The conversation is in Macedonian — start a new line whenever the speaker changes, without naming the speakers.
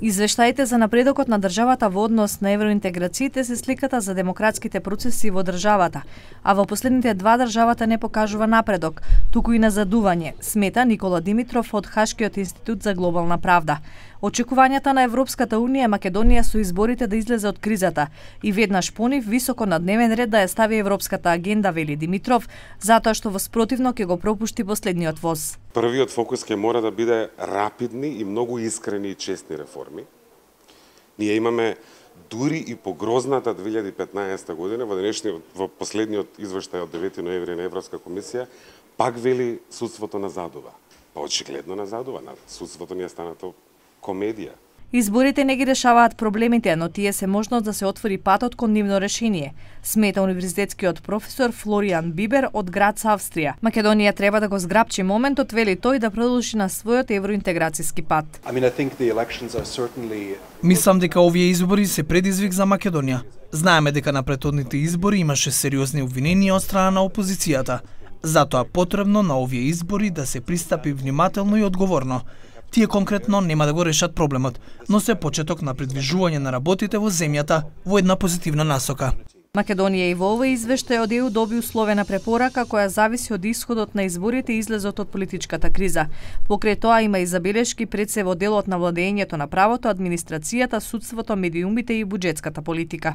Извештаите за напредокот на државата во однос на евроинтеграциите се сликата за демократските процеси во државата, а во последните два државата не покажува напредок, туку и назадување, смета Никола Димитров од Хашкиот институт за глобална правда. Очекувањата на Европската унија Македонија со изборите да излезе од кризата и веднаш понив високо на дневен ред да ја стави европската агенда, вели Димитров, затоа што во спротивно ќе го пропушти последниот воз.
Првиот фокус ќе мора да биде рапидни и многу искрени и честни реформи. Ние имаме дури и погрозната 2015 година, во последниот извештај од 9 ноември на Европска комисија, пак вели судството назадува. Па очигледно назадува, судството ни е станато комедија.
Изборите не ги решаваат проблемите, но тие се можност да се отвори патот кон нивно решение, смета универзитетскиот професор Флориан Бибер од Грац, Австрија. Македонија треба да го зграпчи моментот, вели тој, да продолжи на својот евроинтеграцијски пат.
Мислам дека овие избори се предизвик за Македонија. Знаеме дека на претходните избори имаше сериозни обвиненија од страна на опозицијата. Затоа потребно на овие избори да се пристапи внимателно и одговорно. Тие конкретно нема да го решат проблемот, но се почеток на придвижување на работите во земјата во една позитивна насока.
Македонија и во овој извештај од ЕУ доби условена препорака која зависи од исходот на изборите и излезот од политичката криза. Покрај тоа има и забелешки пред се во делот на владењето на правото, администрацијата, судството, медиумите и буџетската политика.